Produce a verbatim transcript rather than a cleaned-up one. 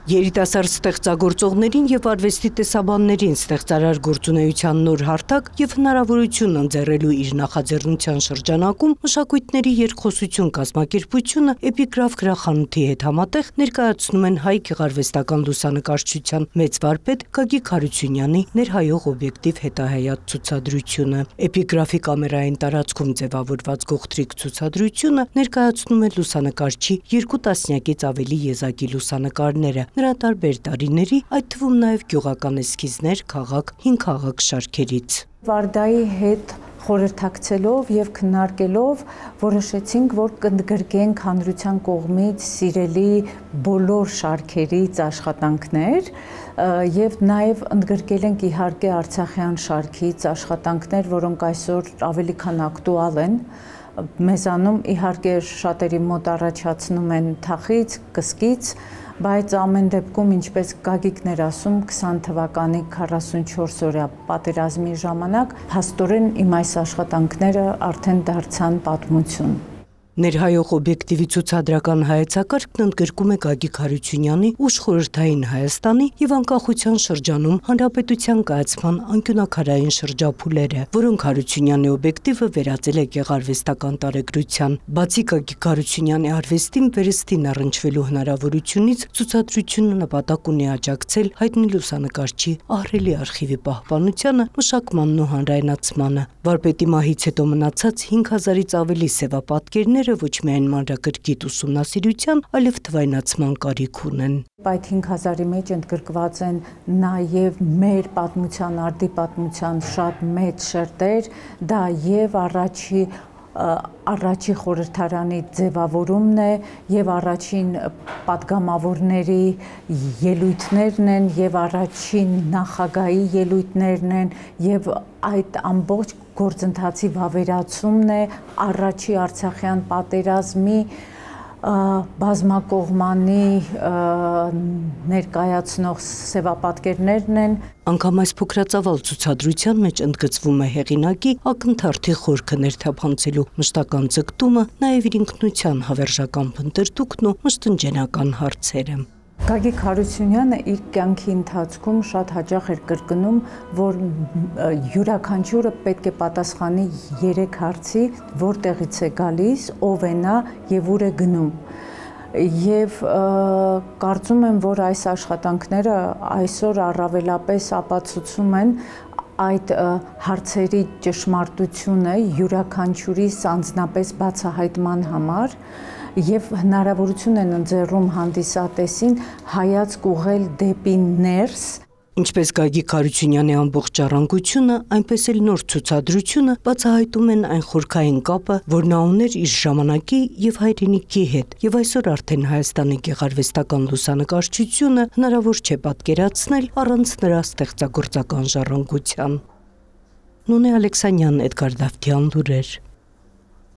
Երիտասարդ ստեղծագործողներին եւ արվեստի տեսաբաններին ստեղծարար գործունեության նոր հարթակ եւ հնարավորություն ընձեռելու իր նախաձեռնության շրջանակում մշակույթների երկխոսություն կազմակերպությունը Էպիգրաֆ գրախանութի հետ համատեղ ներկայացնում են հայ գեղարվեստական լուսանկարչության մեծ վարպետ Գագիկ Հարությունյանի ներհայող օբյեկտիվ հետահայաց ցուցադրությունը։ Էպիգրաֆի կամերային տարածքում ձևավորված գողտրիկ ցուցադրությունը ներկայացնում է լուսանկարչի երկու տասնյակից ավելի եզակի լուսանկարները։ Նրա տարբեր տարիների, այդ թվում նաև գյուղական էսքիզներ, քաղաք, հին քաղաք շարքերից։ Վարդայի հետ խորհրդակցելով եւ քննարկելով որոշեցինք, որ կընդգրկենք հանրության կողմից սիրելի բոլոր շարքերից աշխատանքներ եւ նաեւ ընդգրկել ենք իհարկե արցախյան շարքից աշխատանքներ, որոնք այսօր ավելի քան ակտուալ են։ Մեզանում իհարկե շատերի մոտ առաջացնում են թախից, կսկից, բայց ամեն դեպքում, ինչպես Գագիկն էր ասում, քսան թվականի քառասունչորս օրյա պատերազմի ժամանակ փաստորեն իմ այս աշխատանքները արդեն դարձան պատմություն։ Ներհայող օբյեկտիվի ցուցադրական հայեցակարգն ընդգրկում է Գագիկ Հարությունյանի ուշ խորհրդային Հայաստանի եւ անկախության շրջանում հանրապետության կայացման անկյունակարային շրջափուլերը, որոնք Հարությունյանի օբյեկտիվը վերածել է գեղարվեստական տարեգրության։ Բացի Գագիկ Հարությունյանի արվեստին վերստին առնչվելու հնարավորությունից, ցուցադրությունը նպատակ ունի աջակցել հայտնի լուսանկարչի ահռելի արխիվի պահպանությանը, մշակմանն ու հանրայնացմանը։ Վարպետի մահից հետո մնացած հինգ հազարից ավելի սևապատկերներ ոչ միայն մանրակրկիտ ուսումնասիրության, այլև թվայնացման կարիք ունեն։ Այդ հինգ հազարի մեջ ընդգրկված են նաև մեր պատմության, արդի պատմության շատ մեծ շերտեր, դա եւ առաջի առաջի խորհրդարանի ձևավորումն է եւ առաջին պատգամավորների ելույթներն են եւ առաջին նախագահի ելույթներն են եւ այդ ամբողջ գործընթացի վավերացումն է առաջի արցախյան պատերազմի բազմակողմանի ներկայացնող սևապատկերներն են։ Անգամ այս փոքրածավալ ցուցադրության մեջ ընդգծվում է հեղինակի ակնթարթի խորքը ներթափանցելու մշտական ձգտումը, նաև իր ինքնության հավերժական փնտրտուքն ու մշտնջենական հարցերը։ Գագիկ Հարությունյանը իր կյանքի ընթացքում շատ հաճախ էր կրկնում, որ յուրաքանչյուրը պետք է պատասխանի երեք հարցի, որտեղից է գալիս, ով է նա եւ ուր է գնում։ Եվ կարծում եմ, որ այս աշխատանքները այսօր առավելապես ապացուցում են այդ հարցերի ճշմարտությունը յուրաքանչյուրիս անձնապես բացահայտման համար եւ հնարավորություն են ընձեռում հանդիսատեսին հայացք ուղղել դեպի ներս։ Ինչպես Գագիկ Հարությունյանի ամբողջ ժառանգությունը, այնպես էլ նոր ցուցադրությունը բացահայտում են այն խորքային կապը, որ նա ուներ իր ժամանակի եւ հայրենիքի հետ, եւ այսօր արդեն Հայաստանի գեղարվեստական լուսանկարչությունը հնարավոր չէ պատկերացնել առանց նրա ստեղծագործական ժառանգության։ Նոնե Ալեքսանյան, Էդգար Դավթյան, լուրեր։